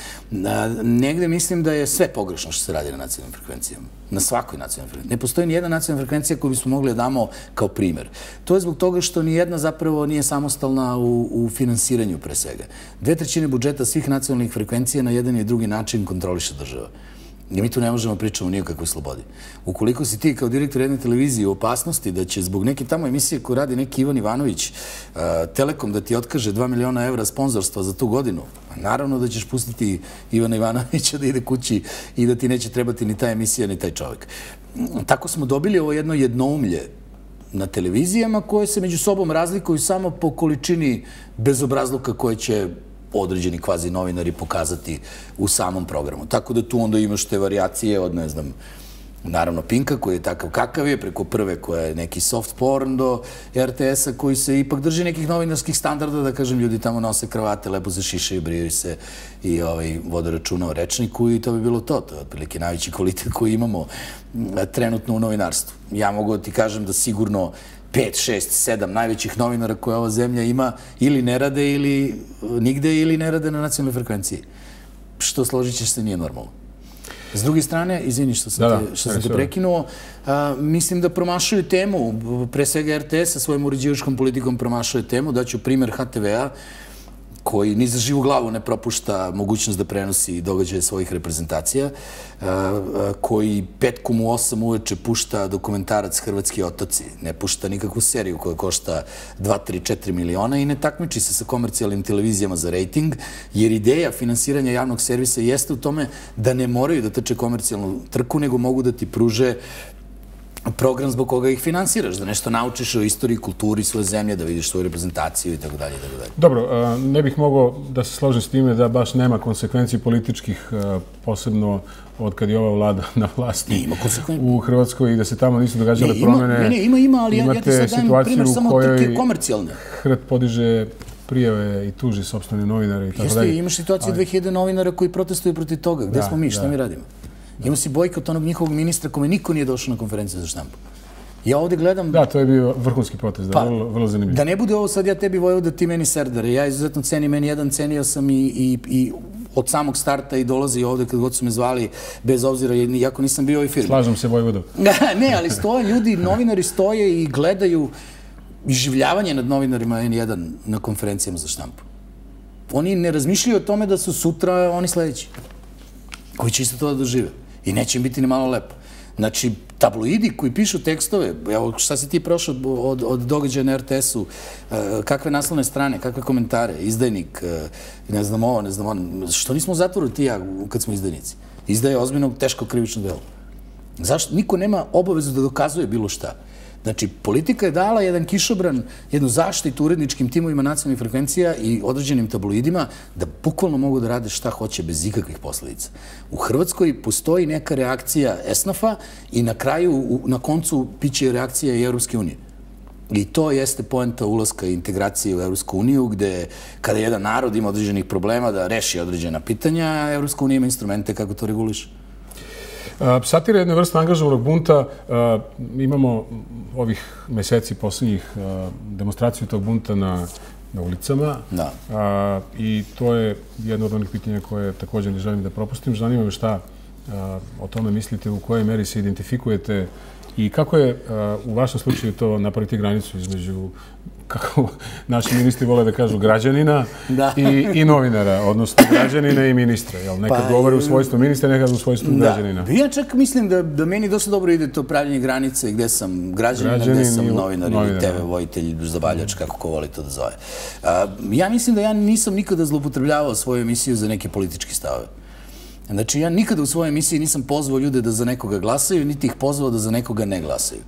Negde mislim da je sve pogrešno što se radi na nacionalnim frekvencijama. Na svakoj nacionalnoj frekvenciji. Ne postoji ni jedna nacionalna frekvencija koju bismo mogli da damo kao primer. To je zbog toga što ni jedna zapravo nije samostalna u finansiranju pre svega. Dve trećine budžeta svih nacionalnih frekvencija na jedan i drugi način kontroliše država. I mi tu ne možemo pričamo ni o kakvoj slobodi. Ukoliko si ti kao direktor jedne televizije u opasnosti da će zbog neke tamo emisije koju radi neki Ivan Ivanović, Telekom da ti otkaže dva miliona evra sponzorstva za tu godinu, naravno da ćeš pustiti Ivana Ivanovića da ide kući i da ti neće trebati ni ta emisija, ni taj čovjek. Tako smo dobili ovo jedno jednoumlje na televizijama koje se među sobom razlikuju samo po količini bezobrazluka koje će određeni kvazi novinari pokazati u samom programu. Tako da tu onda imaš te varijacije od, ne znam, naravno Pinka koji je takav kakav je, preko prve koja je neki soft porn do R T S-a koji se ipak drži nekih novinarskih standarda, da kažem, ljudi tamo nose kravate, lepo se šišaju, brijaju se i vode računa o rečniku i to bi bilo to. To je otprilike najveći kvalitet koji imamo trenutno u novinarstvu. Ja mogu da ti kažem da sigurno pet, šest, sedam najvećih novinara koje ova zemlja ima ili ne rade ili nigde ili ne rade na nacionalnoj frekvenciji. Što složit ćeš se nije normalno. S druge strane, izvini što sam te prekinuo, mislim da promašaju temu, pre svega R T S sa svojom uređivačkom politikom promašaju temu. Daću primer H T V-a koji ni za živu glavu ne propušta mogućnost da prenosi događaje svojih reprezentacija, koji petkom u osam uveče pušta dokumentarac Hrvatski otoci, ne pušta nikakvu seriju koja košta dva, tri, četiri miliona i ne takmiči se sa komercijalnim televizijama za rejting, jer ideja finansiranja javnog servisa jeste u tome da ne moraju da trče komercijalnu trku, nego mogu da ti pruže program zbog koga ih finansiraš, da nešto naučiš o istoriji, kulturi svoje zemlje, da vidiš svoju reprezentaciju i tako dalje. Dobro, ne bih mogao da se složim s time da baš nema konsekvenciji političkih, posebno od kad je ova vlada na vlasti u Hrvatskoj i da se tamo nisu događale promene. Ne, ima, ima, ali ja ti sad dajem primjer samo trke komercijalne. Hrvat podiže prijave i tuži sopstvene novinare i tako dalje. Jeste, imaš situaciju dve hiljade novinara koji protestuju protiv toga. Gde smo mi, šta mi radimo? Ima si bojkot onog njihovog ministra kome niko nije došao na konferenciju za štampu. Ja ovdje gledam... Da, to je bio vrhunski protest, da, vrlo zanimljivo. Da ne bude ovo sad ja tebi Vojvoda, ti meni serdare. Ja izuzetno cenim, meni jedan cenio sam i od samog starta i dolazi ovdje kad god su me zvali, bez obzira, iako nisam bio u ovoj firmi. Slažem se, Vojvodom. Ne, ali stoje ljudi, novinari stoje i gledaju iživljavanje nad novinarima N jedan na konferencijama za štampu. Oni ne razmišljaju o tome da su sutra oni sledeći, koji će isto to da dožive. I neće im biti ni malo lepo. Znači, tabloidi koji pišu tekstove, evo šta si ti prošao od događaja na R T S-u, kakve naslovne strane, kakve komentare, izdajnik, ne znam ovo, ne znam ono, što nismo u zatvoru ti ja kad smo izdajnici? Izdaje ozbiljno teško krivično delo. Zašto? Niko nema obavezu da dokazuje bilo šta. Znači, politika je dala jedan kišobran, jednu zaštitu uredničkim timovima nacionalnih frekvencija i određenim tabloidima da bukvalno mogu da rade šta hoće bez ikakvih posledica. U Hrvatskoj postoji neka reakcija esnafa i na kraju, na koncu, biće reakcija i Evropske unije. I to jeste poenta ulaska i integracije u Evropsku uniju, gde kada jedan narod ima određenih problema da reši određena pitanja, Evropska unija ima instrumente kako to reguliše. Satira je jedna vrsta angažovanog bunta. Imamo ovih meseci posljednjih demonstraciju tog bunta na ulicama. I to je jedno od onih pitanja koje također ne želim da propustim. Zanima me šta o tome mislite, u kojoj meri se identifikujete i kako je u vašem slučaju to napraviti granicu između kako naši ministri vole da kažu, građanina Da. i, i novinara, odnosno građanina i ministra. Jel? Nekad Pa, govore u svojstvu ministra, nekad u svojstvu građanina. Da. Ja čak mislim da, da meni dosta dobro ide to pravljenje granice gde sam građanin, Građanin gde sam i novinar novinar, ili te ve vojitelj, zabavljač, kako ko voli to da zove. A, ja mislim da ja nisam nikada zloupotrebljavao svoju emisiju za neke političke stavove. Znači, ja nikada u svojoj emisiji nisam pozvao ljude da za nekoga glasaju, niti ih pozvao da za nekoga ne glasaju.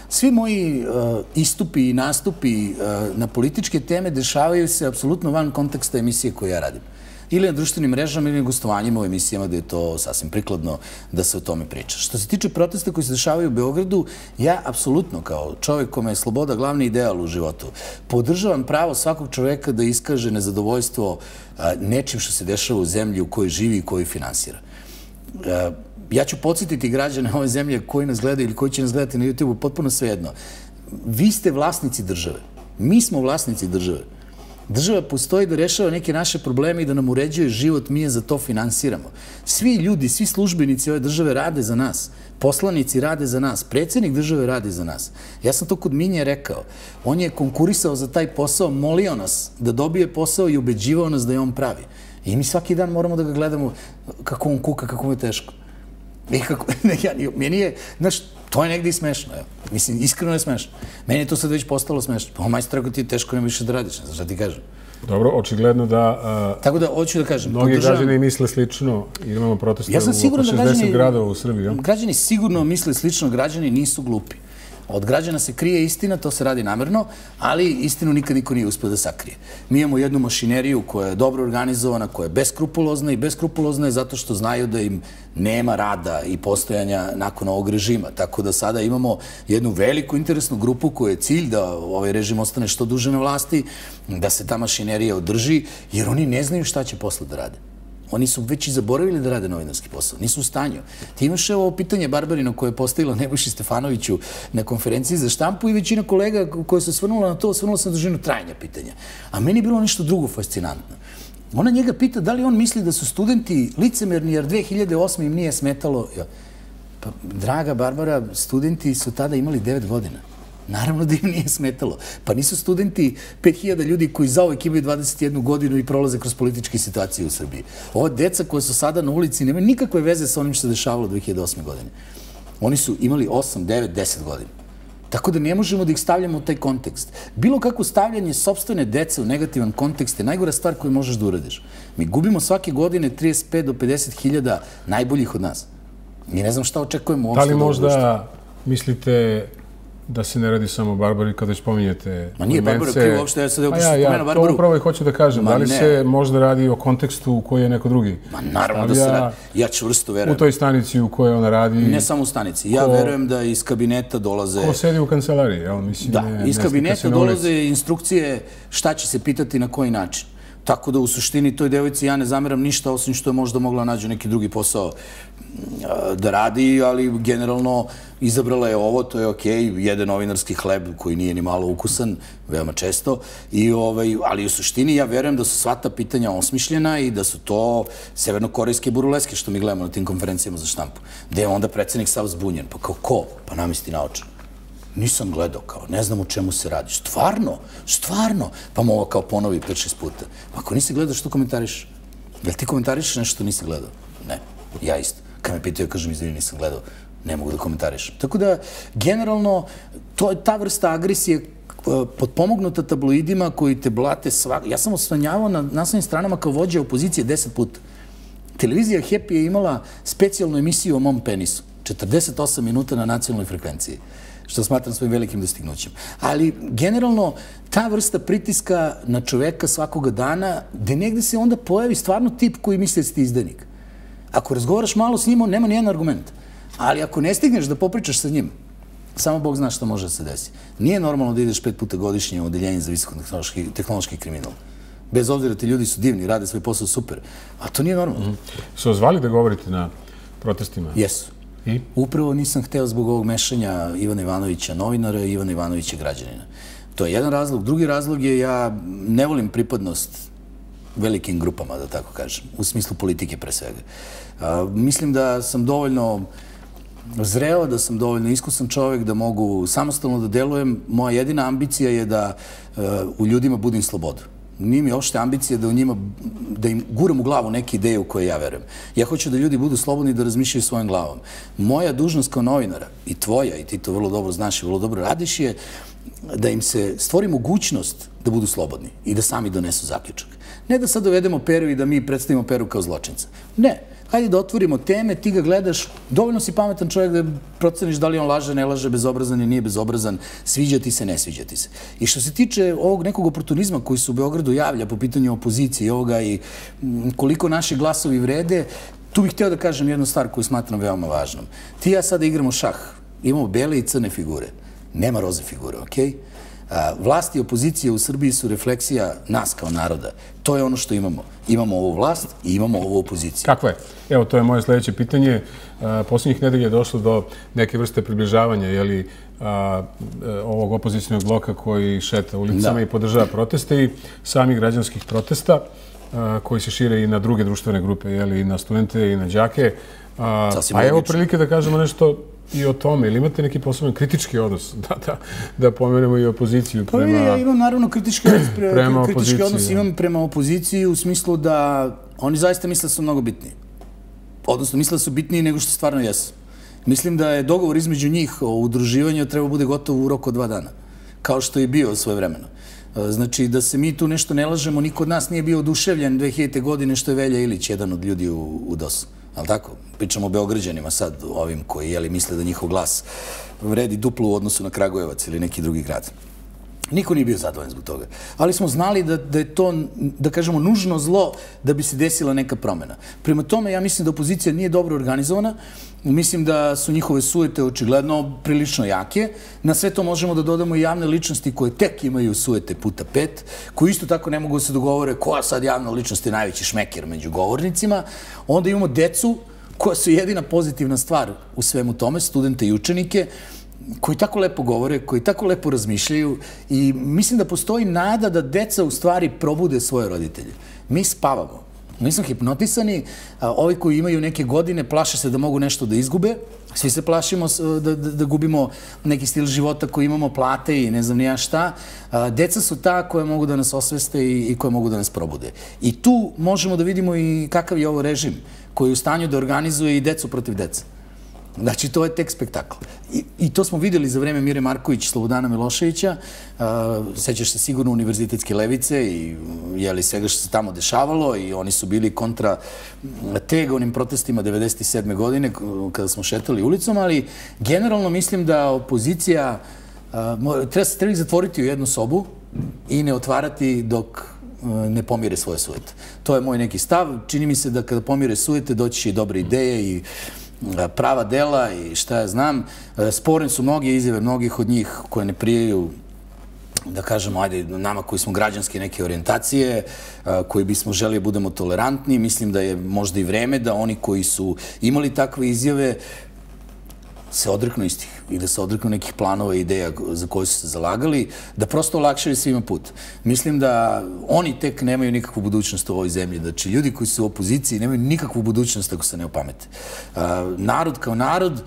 Svi moji uh, istupi i nastupi uh, na političke teme dešavaju se apsolutno van konteksta emisije koju ja radim. Ili na društvenim mrežama ili na gostovanjima u emisijama gde je to sasvim prikladno da se o tome priča. Što se tiče protesta koji se dešavaju u Beogradu, ja apsolutno kao čovjek kome je sloboda glavni ideal u životu, podržavam pravo svakog čoveka da iskaže nezadovoljstvo nečim što se dešava u zemlji u kojoj živi i koju finansira. Ja ću podsjetiti građane ove zemlje koji nas gledaju ili koji će nas gledati na YouTube-u, potpuno svejedno. Vi ste vlasnici države. Mi smo vlasnici države. Država postoji da rešava neke naše probleme i da nam uređuje život, mi je za to finansiramo. Svi ljudi, svi službenici ove države rade za nas. Poslanici rade za nas. Predsjednik države radi za nas. Ja sam to kod Minje rekao. On je konkurisao za taj posao, molio nas da dobije posao i ubeđivao nas da je on pravi. I mi svaki dan moramo da ga gledamo kako on kuka, kako mu je teško. I kako, ne, ja, meni je, znaš, to je negdje i smešno. Evo. Mislim, iskreno je smešno. Meni je to sad već postalo smešno. Pa, majstor, ako ti je teško, nema više da radiš, ne znaš šta ti kažem. Dobro, očigledno da... Uh, Tako da, hoću da kažem... Mnogi podržavam... građani misle slično, jer imamo proteste ja sam u oko šezdeset građani, gradova u Srbiji. Ja? Građani sigurno misle slično, građani nisu glupi. Od građana se krije istina, to se radi namerno, ali istinu nikad niko nije uspio da sakrije. Mi imamo jednu mašineriju koja je dobro organizovana, koja je beskrupulozna i beskrupulozna je zato što znaju da im nema rada i postojanja nakon ovog režima. Tako da sada imamo jednu veliku interesnu grupu koja je cilj da ovaj režim ostane što duže na vlasti, da se ta mašinerija održi, jer oni ne znaju šta će posle da rade. Oni su već i zaboravili da rade novinarski posao. Nisu u stanju. Ti imaš ovo pitanje Barbarino koje je postavila Nebojši Stefanoviću na konferenciji za štampu i većina kolega koja se osvrnula na to, osvrnula se na dužinu trajanja pitanja. A meni je bilo nešto drugo fascinantno. Ona njega pita da li on misli da su studenti licemerni jer dve hiljade osme im nije smetalo. Pa, draga Barbara, studenti su tada imali devet godina. Naravno da im nije smetalo. Pa nisu studenti pet hiljada ljudi koji zauvek imaju dvadeset jednu godinu i prolaze kroz političke situacije u Srbiji. Ova deca koja su sada na ulici nemaju nikakve veze sa onim što se dešavalo dve hiljade osme godine. Oni su imali osam, devet, deset godina. Tako da ne možemo da ih stavljamo u taj kontekst. Bilo kako stavljanje sopstvene dece u negativan kontekst je najgora stvar koju možeš da uradiš. Mi gubimo svake godine trideset pet do pedeset hiljada najboljih od nas. Mi ne znam šta očekujemo uopšte. Da li možda mislite da se ne radi samo o Barbari kada već pominjete... Ma nije Barbara krivo uopšte, ja sad evo pošto spomenu Barbaru. To upravo i hoću da kažem. Da li se možda radi o kontekstu u kojoj je neko drugi? Ma naravno da se radi. Ja čvrsto verujem. U toj stanici u kojoj ona radi... Ne samo u stanici. Ja verujem da iz kabineta dolaze... Ko sedi u kancelariji, jel? Da, iz kabineta dolaze instrukcije šta će se pitati na koji način. Tako da u suštini toj devojci ja ne zameram ništa osim što je možda mogla nađu neki drugi posao da radi, ali generalno izabrala je ovo, to je okej, jede novinarski hleb koji nije ni malo ukusan, veoma često, i ovaj, ali u suštini ja verujem da su sva ta pitanja osmišljena i da su to severnokorejske burleske što mi gledamo na tim konferencijama za štampu, gde je onda predsjednik sav zbunjen, pa kao ko? Pa namisti naočan. Nisam gledao, kao, ne znam o čemu se radi. Stvarno? Stvarno? Pa mu ovo kao ponovi pet šest puta. Ako nisi gledao, što komentariš? Jel ti komentariš nešto što nisi gledao? Ne, ja isto. Kad me pitaju, kažem, izvini, nisam gledao, ne mogu da komentarišem. Tako da, generalno, to je ta vrsta agresije potpomognuta tabloidima koji te blate svak... Ja sam osvanjavao na naslovnim stranama kao vođa opozicije deset puta. Televizija Happy je imala specijalnu emisiju o mom penisu. četrdeset osam minuta na nacionalnoj frekvenciji, što smatram svojim velikim dostignućem. Ali, generalno, ta vrsta pritiska na čoveka svakoga dana, gde negde se onda pojavi stvarno tip koji misli da si ti izdanik. Ako razgovaraš malo s njim, on nema nijedan argument. Ali ako ne stigneš da popričaš sa njim, samo Bog zna što može da se desi. Nije normalno da ideš pet puta godišnje u odeljenje za visokotehnološki kriminal. Bez obzira ti ljudi su divni, rade svoj posao super. A to nije normalno. Su vas zvali da govorite na protestima? Jesu. I? Upravo nisam hteo zbog ovog mešanja Ivana Ivanovića novinara i Ivana Ivanovića građanina. To je jedan razlog. Drugi razlog je ja ne volim pripadnost velikim grupama, da tako kažem, u smislu politike pre svega. Mislim da sam dovoljno zreo, da sam dovoljno iskusan čovjek, da mogu samostalno da delujem. Moja jedina ambicija je da u ljudima budim slobodu. Nije mi uopšte ambicija da u njima, da im guram u glavu neke ideje u koje ja verujem. Ja hoću da ljudi budu slobodni da razmišljaju svojom glavom. Moja dužnost kao novinara, i tvoja, i ti to vrlo dobro znaš i vrlo dobro radiš, je da im se stvori mogućnost da budu slobodni i da sami donesu zaključak. Ne da sad dovedemo Peru i da mi predstavimo Peru kao zločinca. Ne. Hajde da otvorimo teme, ti ga gledaš, dovoljno si pametan čovjek da proceniš da li on laže, ne laže, bezobrazan ili nije bezobrazan, sviđa ti se, ne sviđa ti se. I što se tiče ovog nekog oportunizma koji se u Beogradu javlja po pitanju opozicije i ovoga i koliko naši glasovi vrede, tu bih htio da kažem jednu stvar koju smatram veoma važnom. Ti i ja sada igramo šah, imamo bele i crne figure, nema roze figure, okej? Vlast i opozicija u Srbiji su refleksija nas kao naroda. To je ono što imamo. Imamo ovu vlast i imamo ovu opoziciju. Kako je? Evo, to je moje sljedeće pitanje. Posljednjih nedelja je došlo do neke vrste približavanja ovog opozicijnog bloka koji šeta ulicama i podržava proteste i samih građanskih protesta koji se šire i na druge društvene grupe, i na studente i na đake. Pa evo prilike da kažemo nešto i o tome. Ili imate neki poseban kritički odnos da pomenemo i opoziciju prema opoziciji? Ja imam naravno kritički odnos imam prema opoziciji u smislu da oni zaista misle da su mnogo bitniji. Odnosno, misle da su bitniji nego što stvarno jesu. Mislim da je dogovor između njih o udruživanju treba bude gotov u roku od dva dana. Kao što je bio svoje vremeno. Znači, da se mi tu nešto ne lažemo, niko od nas nije bio oduševljen dve hiljadite. godine što je Velja Ilić, jedan od ljudi u D O S-u. Ali tako? Pričamo o Beograđanima sad, ovim koji misle da njihov glas vredi duplo u odnosu na Kragujevac ili neki drugi grad. Niko nije bio zadovoljan zbog toga. Ali smo znali da je to, da kažemo, nužno zlo da bi se desila neka promjena. Prema tome, ja mislim da opozicija nije dobro organizovana. Mislim da su njihove sujete očigledno prilično jake. Na sve to možemo da dodamo i javne ličnosti koje tek imaju sujete puta pet, koji isto tako ne mogu da se dogovore koja sad javna ličnost je najveći šmeker među govornicima. Onda imamo decu koja su jedina pozitivna stvar u svemu tome, studente i učenike, koji tako lepo govore, koji tako lepo razmišljaju i mislim da postoji nada da deca u stvari probude svoje roditelje. Mi spavamo. Mi smo hipnotisani, ovi koji imaju neke godine plaše se da mogu nešto da izgube, svi se plašimo da gubimo neki stil života koji imamo, plate i ne znam nija šta. Deca su ta koja mogu da nas osveste i koja mogu da nas probude. I tu možemo da vidimo i kakav je ovo režim koji je u stanju da organizuje i decu protiv deca. Znači, to je tek spektakl. I to smo vidjeli za vreme Mire Marković i Slobodana Miloševića. Sećaš se sigurno univerzitetske levice i svega što se tamo dešavalo i oni su bili kontra tega onim protestima devedeset sedme. godine kada smo šetali ulicom, ali generalno mislim da opozicija treba ih zatvoriti u jednu sobu i ne otvarati dok ne pomire svoje sujete. To je moj neki stav. Čini mi se da kada pomire sujete doći će i dobre ideje i prava dela i šta ja znam. Sporne su mnoge izjave, mnogih od njih koje ne prijaju, da kažemo, ajde, nama koji smo građanske neke orijentacije, koji bismo želi budemo tolerantni. Mislim da je možda i vreme da oni koji su imali takve izjave se odreknu istih i da se odreknu nekih planova i ideja za koje su se zalagali, da prosto olakšaju svima put. Mislim da oni tek nemaju nikakvu budućnost u ovoj zemlji. Znači, ljudi koji su u opoziciji nemaju nikakvu budućnost ako se ne opamete. Narod kao narod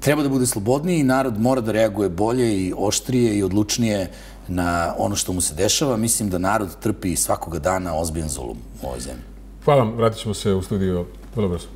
treba da bude slobodniji i narod mora da reaguje bolje i oštrije i odlučnije na ono što mu se dešava. Mislim da narod trpi svakoga dana ozbiljan zulum u ovoj zemlji. Hvala vam. Vratit ćemo se u studiju vrlo brzo.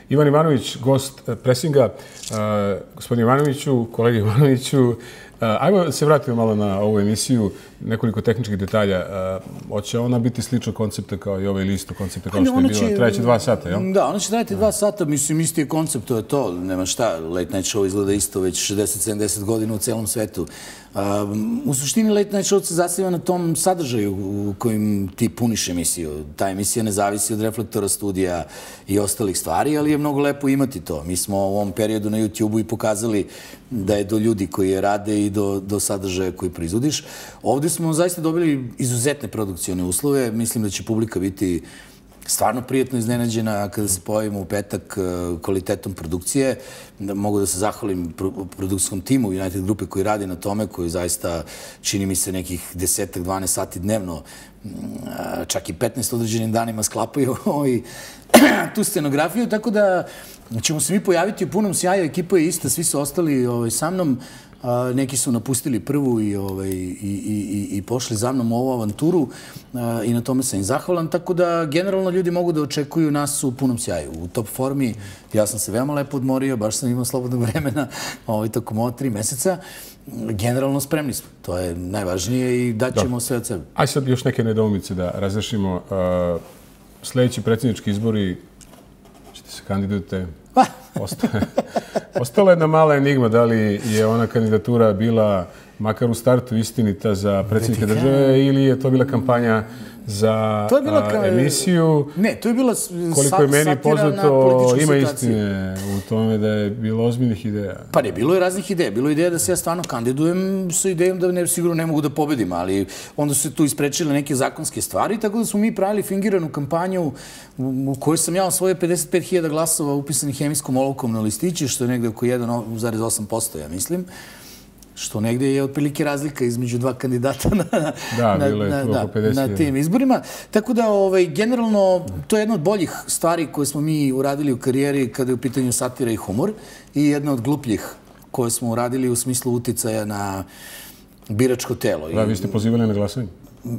Ivan Ivanović, gost Presinga. Gospodin Ivanoviću, kolegi Ivanoviću, ajmo da se vratimo malo na ovu emisiju, nekoliko tehničkih detalja. Hoće ona biti sličnog koncepta kao i ovaj listu koncepta kao što je bilo? Trajeće dva sata, jel? Da, ona će trajati dva sata. Mislim, isti je koncept, to je to. Nema šta, Late Night Show izgleda isto već šezdeset sedamdeset godina u celom svetu. U suštini Late Night Show se zasniva na tom sadržaju u kojim ti puniš emisiju. Ta emisija ne zavisi od Reflektora, studija i ostalih stvari, ali je mnogo lepo imati to. Mi smo u ovom periodu na YouTube-u i pokazali da je do ljudi koji je rade i do, do sadržaja koji proizvodiš. Ovdje smo zaista dobili izuzetne produkcione uslove. Mislim da će publika biti stvarno prijatno iznenađena kada se pojavimo u petak kvalitetom produkcije. Mogu da se zahvalim produkcijskom timu United grupe koji radi na tome, koji zaista čini mi se nekih desetak, dvanaest sati dnevno, čak i petnaest određenim danima sklapaju tu scenografiju, tako da ćemo se mi pojaviti u punom sjaju. Ekipa je ista, svi su ostali sa mnom. Neki su napustili prvu i, ovaj, i, i, i pošli za mnom u ovu avanturu i na tome sam im zahvalan. Tako da generalno ljudi mogu da očekuju nas u punom sjaju, u top formi. Ja sam se veoma lepo odmorio, baš sam imao slobodnog vremena ovaj, tokom ova tri meseca. Generalno spremni smo, to je najvažnije i daćemo sve od sebe. Aj sad još neke nedoumice da razrešimo. Uh, sljedeći predsjednički izbori, ćete se kandidujete? Ostala je jedna mala enigma, da li je ona kandidatura bila makar u startu istinita za predsjednika države ili je to bila kampanja za emisiju. Ne, to je bila koliko je meni poznato, ima istine u tome da je bilo ozbiljnih ideja. Pa ne, bilo je raznih ideja. Bilo je ideja da se ja stvarno kandidujem sa idejom da ne, sigurno ne mogu da pobedim, ali onda su se tu isprečile neke zakonske stvari, tako da smo mi pravili fingiranu kampanju u kojoj sam ja osvojio pedeset pet hiljada glasova upisanih hemijskom olovkom na listići, što je negde oko jedan zarez osam posto, ja mislim. Što negdje je otprilike razlika između dva kandidata na, da, na, na, na, na tim izborima. Tako da, ovaj, generalno, to je jedna od boljih stvari koje smo mi uradili u karijeri kada je u pitanju satira i humor i jedna od glupljih koje smo uradili u smislu uticaja na biračko telo. Da, vi ste pozivali na glasanje?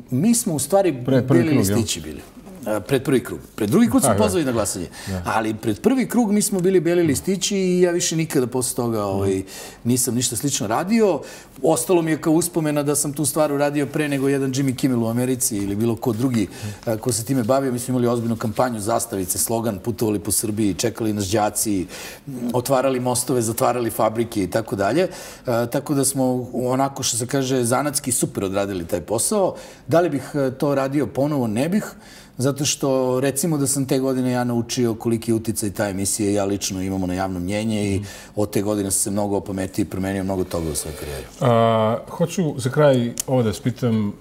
Mi smo u stvari bili listići bili. Pred prvi krug. Pred drugi krug smo pozvali na glasanje. Ali pred prvi krug mi smo bili beli listići i ja više nikada posle toga nisam ništa slično radio. Ostalo mi je kao uspomena da sam tu stvar uradio pre nego jedan Jimmy Kimmel u Americi ili bilo ko drugi ko se time bavio. Mi smo imali ozbiljnu kampanju, zastavice, slogan, putovali po Srbiji, čekali nas đaci, otvarali mostove, zatvarali fabrike i tako dalje. Tako da smo onako, što se kaže, zanatski super odradili taj posao. Da li bih to radio ponovo? Ne bih. Zato što, recimo da sam te godine ja naučio koliki uticaj ta emisija i ja lično imamo na javno mnjenje i od te godine sam se mnogo opametio i promenio mnogo toga u svojoj karijeri. A, hoću za kraj ovo da spitam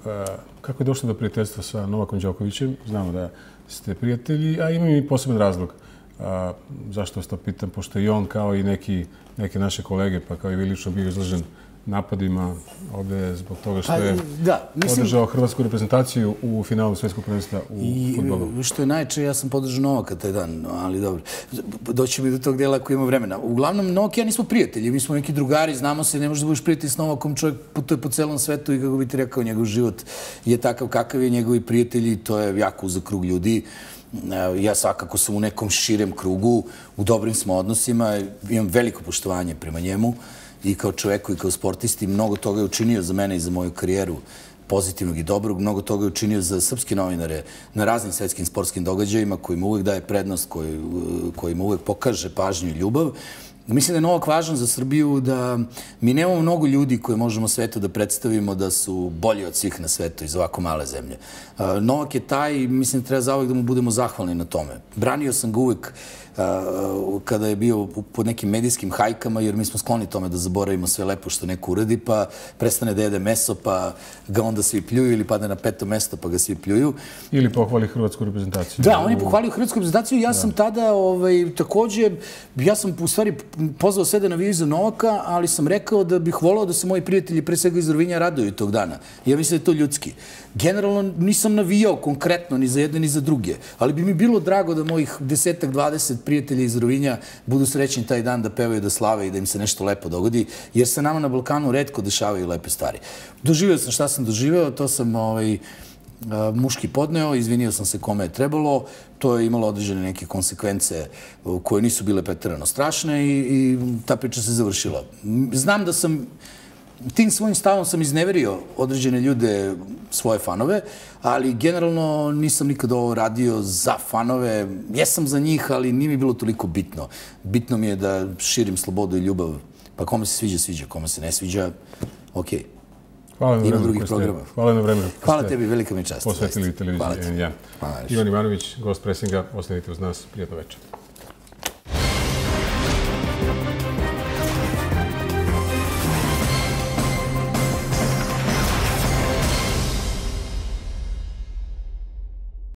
kako je došlo do prijateljstva sa Novakom Đokovićem. Znamo da ste prijatelji, a imam i poseban razlog. A, zašto vas to pitam? Pošto i on kao i neki, neke naše kolege, pa kao i vi lično bio izložen napadima ovdje zbog toga što je podržao hrvatsku reprezentaciju u finalu svjetskog prvenstva u fudbalu. I što je najče, ja sam podržao Novaka taj dan, ali dobro. Doći mi do tog dela ako ima vremena. Uglavnom, Novak i ja nismo prijatelji, mi smo neki drugari, znamo se, ne možeš da budeš prijatelj s Novakom, čovjek putuje po celom svetu i kako bi ti rekao, njegov život je takav kakav je, njegovi prijatelji, to je jako uzak krug ljudi. Ja svakako sam u nekom širem krugu, u dobrim smo odnosima, imam veliko poštovanje prema njemu i kao čoveku i kao sportisti. Mnogo toga je učinio za mene i za moju karijeru, pozitivnog i dobrog. Mnogo toga je učinio za srpske novinare na raznim svetskim sportskim događajima kojima uvek daje prednost, kojima uvek pokaže pažnju i ljubav. Mislim da je Novak važan za Srbiju, da mi nemamo mnogo ljudi koje možemo svetu da predstavimo da su bolji od svih na svetu iz ovako male zemlje. Novak je taj i mislim da treba zauvek da mu budemo zahvalni na tome. Branio sam ga uvek kada je bio pod nekim medijskim hajkama, jer mi smo skloni tome da zaboravimo sve lepo što neko uradi, pa prestane da jede meso, pa ga onda svi pljuju, ili padne na peto mesto, pa ga svi pljuju. Ili pohvali hrvatsku reprezentaciju. Da, on je pohvalio hrvatsku reprezentaciju. Ja sam tada takođe, ja sam u stvari pozvao sve da navijaju za Novaka, ali sam rekao da bih volao da se moji prijatelji, pre svega iz Rovinja, raduju tog dana. Ja mislim da je to ljudski. Generalno nisam navijao konkretno ni za jedne ni za druge, ali bi mi bilo drago da mojih desetak, dvadeset prijatelji iz Rovinja budu srećni taj dan da pevaju, da slave i da im se nešto lepo dogodi, jer se nama na Balkanu retko dešavaju lepe stvari. Doživio sam šta sam doživeo, to sam muški podneo, izvinio sam se kome je trebalo, to je imalo određene neke konsekvence koje nisu bile preterano strašne i ta priča se završila. Znam da sam tim svojim stavom sam izneverio određene ljude, svoje fanove, ali generalno nisam nikad ovo radio za fanove. Jesam za njih, ali nije mi bilo toliko bitno. Bitno mi je da širim slobodu i ljubav. Pa kome se sviđa, sviđa. Kome se ne sviđa, okej. Ima drugih programa. Hvala na vremenu. Hvala tebi, velika mi čast. Posvetili televiziji N jedan. Ivan Ivanović, gost presinga, ostanite uz nas. Prijatno večer.